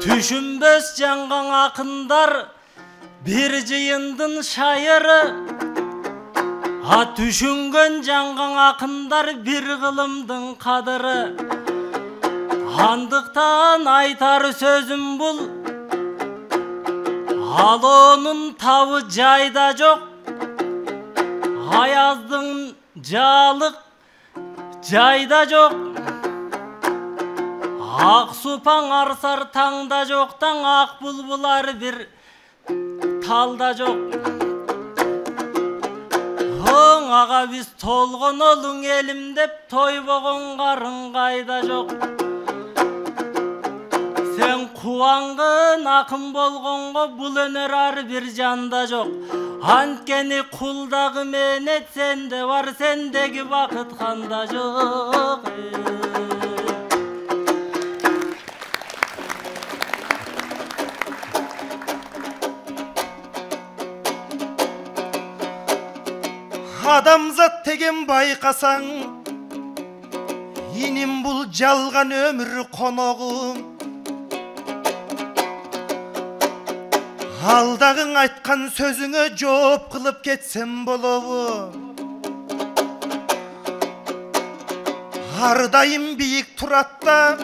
Түшүнбөс жанган акындар бир жыйындын шайыры. Түшүнгөн жанган акындар бир кылымдын кадыры. Андыктан айтар сөзүм бул, ал онун табы жайда жок. Аяздын жалык жайда жок. Ак супаң арсар таңда жоктан, ак булбулар бир талда жок. Оң ага биз толгон олуң элим деп, тойбогон карын кайда жок. Сен кубангын акын болгонго, бул өнөр ар бир жанда жок. Анткени кулдагы менет сенде бар, сендеги бакыт канда жок. Адамзат деген байкасаң, иним бул жалган өмүр коногу. Алдагың айткан сөзүңө жооп кылып кетсем болобу. Ар дайым бийик турат да,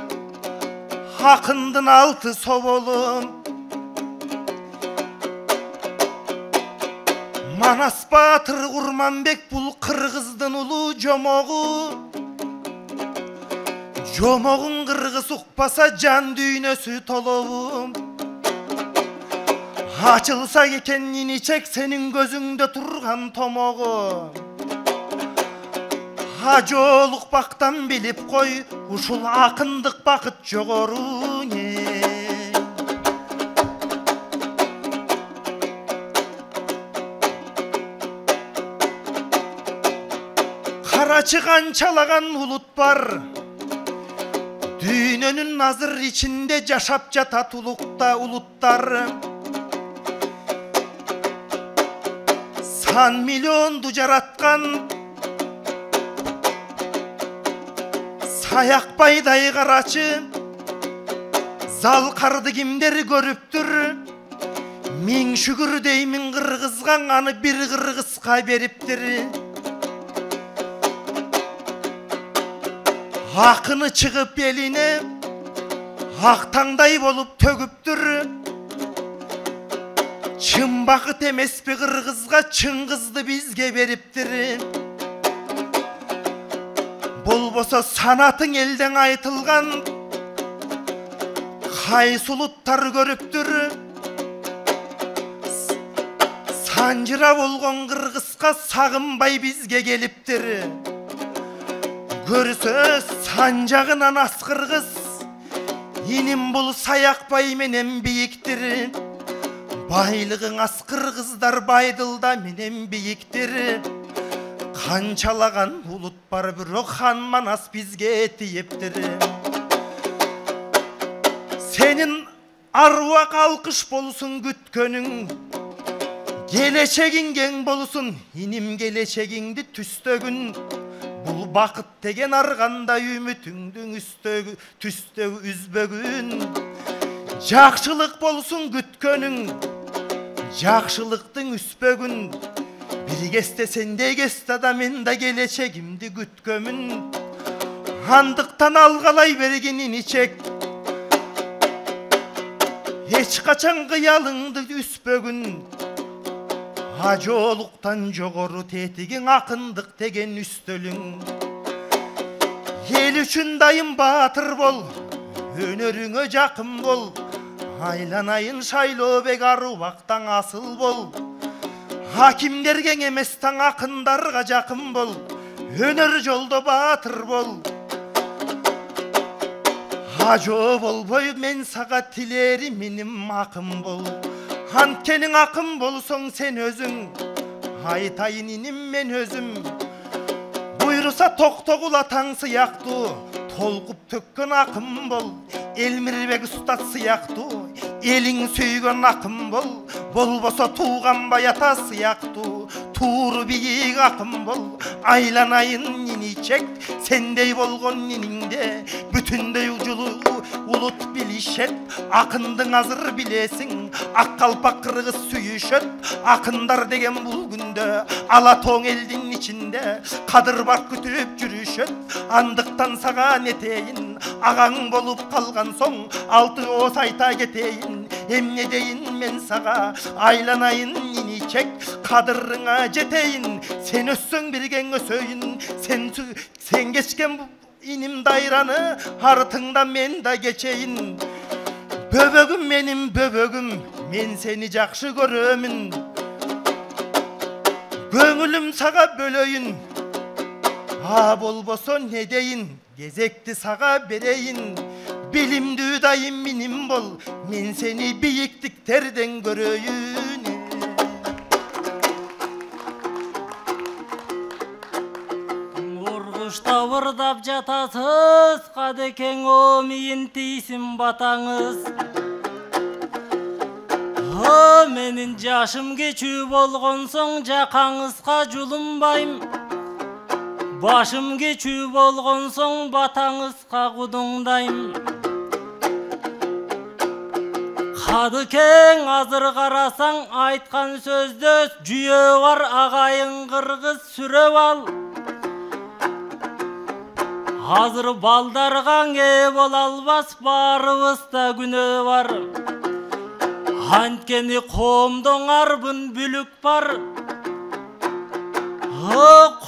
акындын алты соболу. Манас Баатыр Курманбек бул кыргыздын улуу жомогу. Жомогун кыргыз укпаса жан дүйнөсү толобу. Ачылса экен иничек сенин көзүңдө турган томогу. Жолук бактан билип кой, ушул акындык бакыт жогору. Карачы канчалаган улут бар, дүйнөнүн азыр ичинде жашап жатат улукта улуттар. Сан миллионду жараткан Саякбайдай карачы, залкарды кимдер көрүптүр? Миң шүгүр деймин кыргызга, аны бир кыргызга бериптир. Акыны чыгып элине ак таңдай болуп төгүптүр. Чын бакыт эмеспи кыргызга, чын кызды бизге бериптир. Болбосо санатың элден айтылган, кайсы улуттар көрүптүр. Санжыра болгон кыргызга сагынбай бизге келиптир. Көрсө санжагынан ас кыргыз, иним бул саякбай менен бийиктир. Байлыгың аз кыргыздар байдылда менен бийиктир. Канчалаган улут бар, бирок хан манас бизге тиептир. Сенин аруак алкыш болсун күткөнүң, келечегиң кең болсун, иним келечегиңди түстөгүн. Бул бакыт деген аргандай үмүтүңдүн түстөгү үзбөгүн. Жакшылык болсун күткөнүң, жакшылыктын үспөгүн. Бир кезде сендей кезде да мен да келечегимди күткөмүн. Андыктан алгалай бергенин ичек, эч качан кыялыңды үспөгүн. Ажоолуктан жогору тетигиң акындык деген үстөлүң. Эл үчүн дайым баатыр бол, өнөрүңө жакын бол. Айланайын Шайлообек Арубактан асыл бол. Хакимдерге эмес таң акындарга жакын бол. Өнөр жолдо баатыр бол. Ажоо болбой мен сага тилерим меним акын бол. Анткенин акын болсоң сен өзүң, айтайын иним мен өзүм. Буйруса Токтогул атаң сыяктуу, толкуп төккөн акын бол. Элмирбек устат сыяктуу, элиң сүйгөн акын бол. Болбосо Тууганбай ата сыяктуу, тууру бийик акын бол. Айланайын ниничек, сендей болгон ниниңде бүтүндөй улут билишет. Акындың азыр билесиң, ак калпак кыргыз сүйүшөт. Акындар деген бул күндө ала тоң элдин ичинде кадыр бар күтүп жүрүшөт. Андыктан сага нетейин, агаң болуп калган соң алты ооз айта кетейин. Эмне дейин мен сага, айланайын ниничек, кадырыңа жетейин. Сен өссөң бирген өсөйүн, сен кечкен иним дайраны, артыңда мен да кечейин. Бөбөгүм менин бөбөгүм, мен сени жакшы көрөмүн. Көңүлүм сага бөлөйүн, болбосо не дейин, кезекти сага берейин. Билимдүү дайым миним бол, мен сени бийиктиктерден көрөйүн. Ургушта ырдап жатасыз, кадекең о мийин тийсин батаңыз. Менин жашым кечүү болгон соң жакаңызга жулунбайм. Башым кечүү болгон соң батаңызга кудуңдайм. Кадыкең азыр карасаң айткан сөздө жүйө бар, агайын кыргыз сүрөп ал. Азыр балдарга ээ боло албас, баарыбызда күнөө бар. Анткени коомдон арбын бүлүк бар.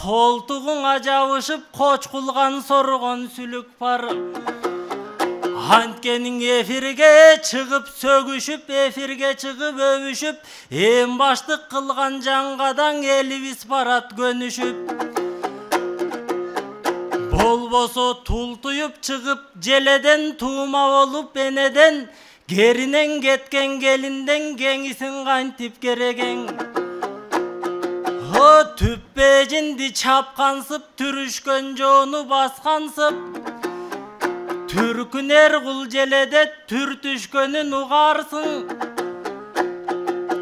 Колтугуңа жабышып кочкулган соргон сүлүк бар. Анткенин эфирге чыгып сөгүшүп, эфирге чыгып өбүшүп, эң баштык кылган жаңгадан элибиз барат көнүшүп. Болбосо тултуюп чыгып желеден, туума болуп энеден, керинен кеткен келинден кеңисин кантип керегең. Түппежинди чапкансып, түрүшкөн жоону баскансып. Түркүнер кул желеде түртүшкөнүн угарсың.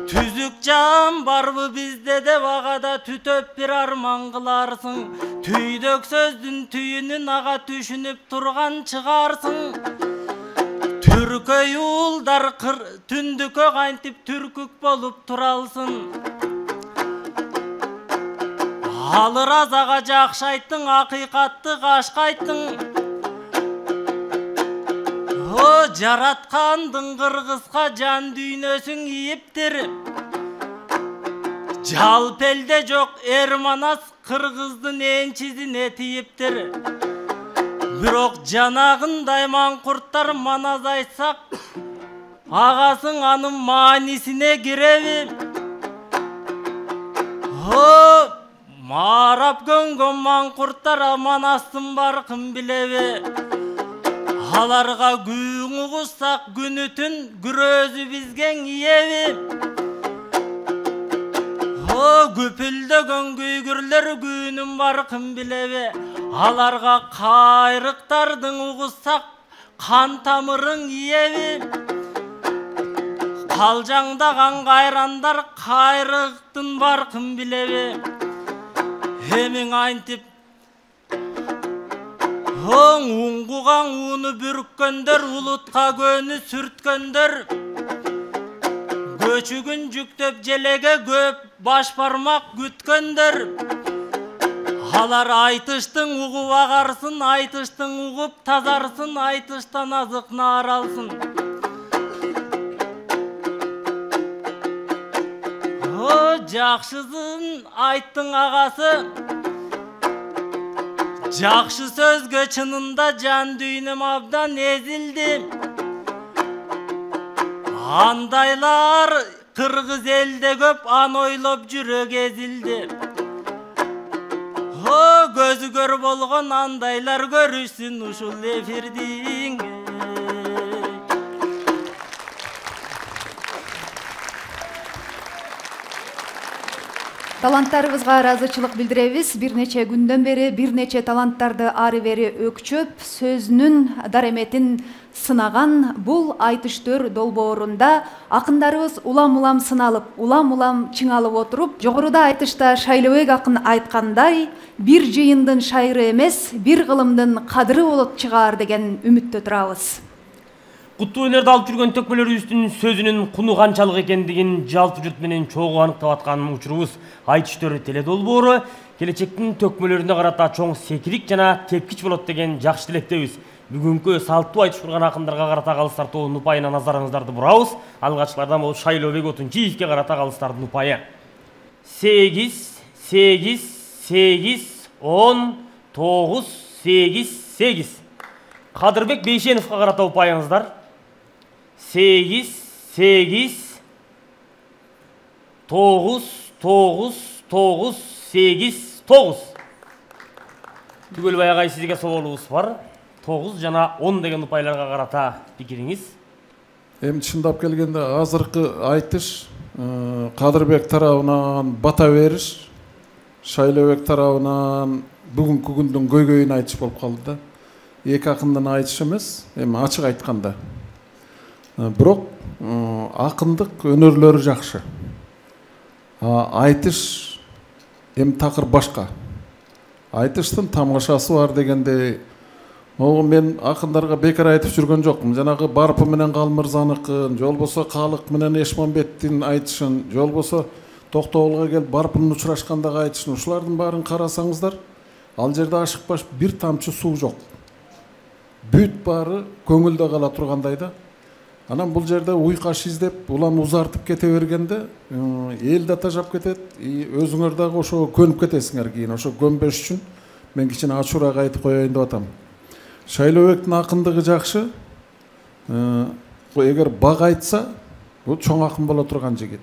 Түзүк жан барбы бизде деп агада түтөп бир арман кыларсың. Түйдөк сөздүн түйүнүн ага түшүнүп турган чыгарсың. Түркөй уулдар түндүккө кантип түркүк болуп туралсың. Алыр азага жакшы айттың, акыйкатты кашкайттың. Жараткандың кыргызга жан дүйнөсүн ийиптир. Жалпы элде жок Эрманас кыргыздын энчизине тийиптир. Бирок жанагындай маңкурттар маназ айтсак, агасың анын маанисине киреби? Марап көнгөн маңкурттар Манастын баркын билеби? Аларга күйүң угуссак күнү түн күрөзү бизген иеби? Күпүлдөгөн күйгүрлөр күйүнүн баркын билеби? Аларга кайрыктардын угуссак кан тамырың иеби? Калжаңдаган кайрандар кайрыктын баркын билеби? Эмиң антип уңгуган уну бүрккөндөр, улутка көнү сүрткөндөр, көчүгүн жүктөп желеге көп баш бармак күткөндөр. Алар айтыштың угуп агарсын, айтыштың угуп тазарсын, айтыштан азык наар алсын. Жакшысын айттың агасы, жакшы сөзгө чынында жан дүйнөм абдан эзилди. Андайлар кыргыз элде көп, аны ойлоп жүрөк эзилди. Көзү көр болгон андайлар көрүшсүн ушул эфирдин. Таланттарыбызга ыраазычылык билдиребиз. Бир нече күндөн бери бир нече таланттарды ары бери өкчөп, сөзүнүн дареметин сынаган бул айтыштөр долбоорунда акындарыбыз улам-улам сыналып, улам-улам чыңалып отуруп, жогоруда айтышта Шайлообек акын айткандай, бир жыйындын шайыры эмес, бир кылымдын кадыры болот чыгаар деген үмүттө турабыз. Куттуу өнөрдү алып жүргөн төкмөлөрүбүздүн сөзүнүн куну канчалык экендигин жалпы журт менен чогуу аныктап аткан учурубуз айтыштөр теле долбоору келечектин төкмөлөрүнө карата чоң секирик жана тепкич болот деген жакшы тилектебиз. Бүгүнкү салттуу айтыш курган акындарга карата калыстар тобунун упайына назарыңыздарды бурабыз. Алгачкылардан болуп Шайлообек Отунчиевке карата калыстардын упайы 8 8 8 10 9 8 8. Кадырбек Бейшеновго карата упайыңыздар 8 8 9 9 9 8 9. Түгөлбай агай, сизге соолубуз бар. 9 жана 10 деген упайларга карата пикириңиз? Эми чындап келгенде азыркы айтыш Кадырбек тарабынан бата бериш, Шайлообек тарабынан бүгүнкү күндүн көйгөйүн айтыш болуп калды да. Эки акындын айтышы эмес, эми ачык айтканда. Бирок акындык өнөрлөрү жакшы. Айтыш эми такыр башка. Айтыштын тамашасы бар дегенде, мен акындарга бекер айтып жүргөн жокмун. Жанагы Барпы менен Калмырзаныкын, жол болсо Калык менен Эшмамбеттин айтышын, жол болсо Токтогулга келип Барпынын учурашкандагы айтышын, ушулардын баарын карасаңыздар, ал жерде ашыкпаш бир тамчы суу жок. Бүт баары көңүлдө кала тургандай да. Анан бул жерде уйкаш издеп, улам узартып кете бергенде, эл да тажап кетет, өзүңөр дагы ошого көнүп кетесиңер кийин. Ошо көнбөш үчүн мен кичине ачуураак айтып коеюн деп атам. Шайлообектин акындыгы жакшы. Эгер бак айтса, бул чоң акын боло турган жигит.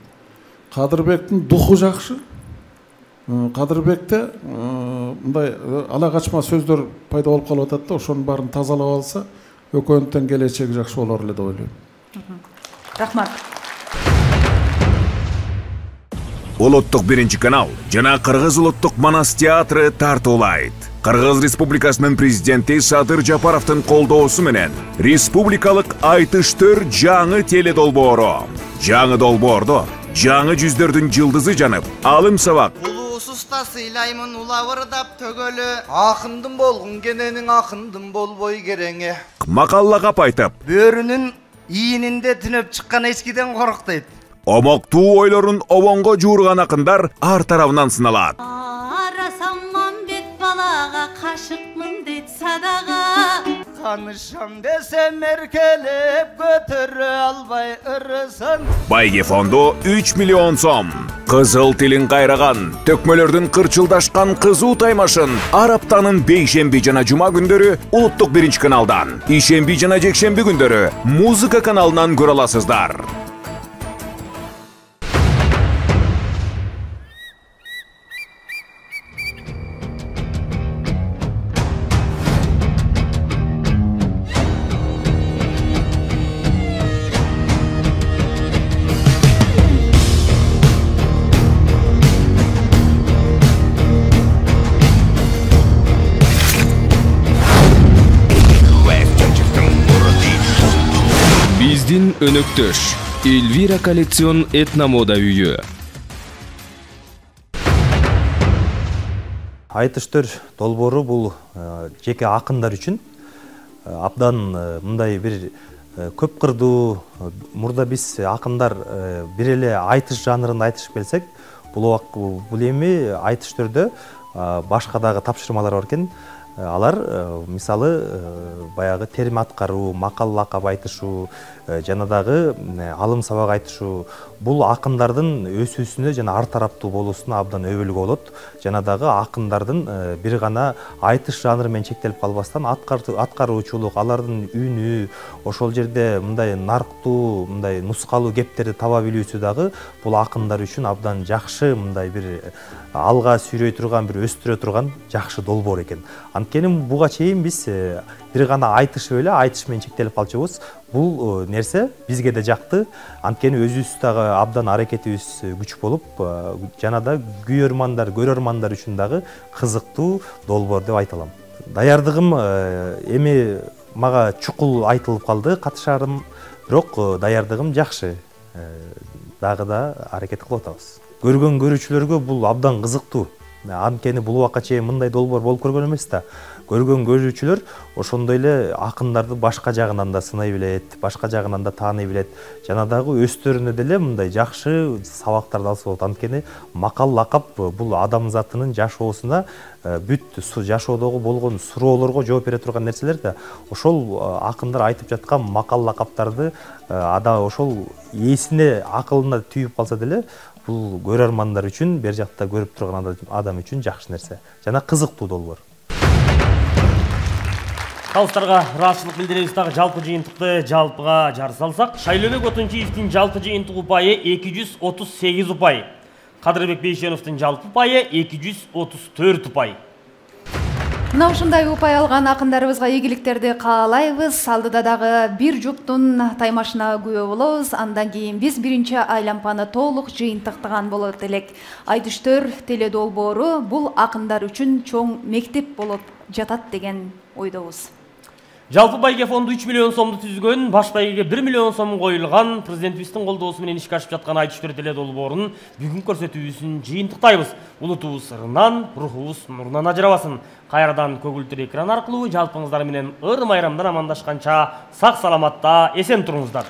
Кадырбектин духу жакшы. Кадырбекте мындай ала качма сөздөр пайда болуп калып атат да, ошонун баарын тазалап алса, өкөнтөн келечеги жакшы болор эле деп ойлойм. Рахмат. Улуттук 1-канал жана Кыргыз улуттук Манас театры тартуулайт. Кыргыз Республикасынын президенти Садыр Жапаровдун колдоосу менен республикалык айтыштөр жаңы теле долбоору. Жаңы долбоордо жаңы жүздөрдүн жылдызы жанып, алым сабак. Улуусузда сыйлаймын улабырдап төгөлү. Акындын болгун кененин акындын болбой кереңе. Макаллагап айтып, бөрүнүн ийининде түнөп чыккан эчкиден корк дейт. Омоктуу ойлорун обонго жуурган акындар ар тарабынан сыналат. Арасамман бет балага кашыкмын дейт садага. канышам десем эркелеп көтөрө албай ырысын. Байге фонду 3 миллион сом. Кызыл тилин кайраган, төкмөлөрдүн кырчылдашкан кызуу таймашын ар аптанын бейшемби жана жума күндөрү улуттук 1-каналдан, ишемби жана жекшемби күндөрү музыка каналынан көрө аласыздар. Биздин өнөктөш Эльвира коллекцион этномода үйү. Айтыштыр долбоору бул жеке акындар үчүн абдан мындай бир көп кырдуу. Мурда биз акындар бир эле айтыш жанрында айтышып келсек, бул эми айтыштырда башка дагы тапшырмалар бар экен. Алар мисалы баягы терим аткаруу, макал лакап айтышуу, жана дагы алым сабак айтышуу бул акындардын өсүүсүнө жана ар тараптуу болуусуна абдан өбөлгө болот. Жана дагы акындардын бир гана айтыш жанры менен чектелип калбастан аткаруучулук, алардын үнү, ошол жерде мындай нарктуу, мындай нускалуу кептерди таба билүүсү дагы бул акындар үчүн абдан жакшы, мындай бир алга сүйрөй турган, бир өстүрө турган жакшы долбоор экен. Анткени буга чейин биз бир гана айтышып эле айтыш менен чектелип калчубуз. Бул нерсе бизге да жакты. Анткени өзүбүз дагы абдан аракетибиз күч болуп, жана да күйөрмандар, көрөрмандар үчүн дагы кызыктуу долбоор деп айта алам. Даярдыгым эми мага чукул айтылып калды, катышарым, бирок даярдыгым жакшы. Дагы да аракет кылып атабыз. Көргөн көрүүчүлөргө бул абдан кызыктуу. Анткени бул убакка чейин мындай долбоор болуп көргөн эмес да. Көргөн көрүүчүлөр ошондой эле акындарды башка жагынан да сынай билет, башка жагынан да тааный билет. Жана дагы өздөрүнө деле мындай жакшы сабактарды алса болот. Анткени макал лакап бул адамзатынын жашоосуна бүт жашоодогу болгон суроолорго жооп бере турган нерселер да. Ошол акындар айтып жаткан макал лакаптарды ошол ээсине, акылына түйүп калса деле бул көрөрмандар үчүн, бер жакта көрүп турган адам үчүн жакшы нерсе. Жана кызыктуу долбоор. Калыстарга ыраазычылык билдиребиз. Дагы жалпы жыйынтыкты жалпыга жар салсак, Шайлообек Отунчиевдин жалпы жыйынтык упайы 238 упай. Кадырбек Бейшеновдун жалпы упайы 234 упай. Мына ушундай упай алган акындарыбызга ийгиликтерди каалайбыз. Алдыда дагы бир жуптун таймашына күбө болобуз. Андан кийин биз биринчи айлампаны толук жыйынтыктаган болот элек. Айтыштөр теледолбоору бул акындар үчүн чоң мектеп болуп жатат деген ойдобуз. Жалпы байге фонду 3 миллион сомду түзгөн, баш байгеге 1 миллион сом коюлган, президентибиздин колдоосу менен ишке ашып жаткан айтыштөр теледолбоорунун бүгүн көрсөтүүсүн жыйынтыктайбыз. Улутубуз ырынан, рухубуз нурунан ажырабасын. Кайрадан көгүлтүр экран аркылуу жалпыңыздар менен ыр майрамдан амандашканча сак саламатта эсен туруңуздар.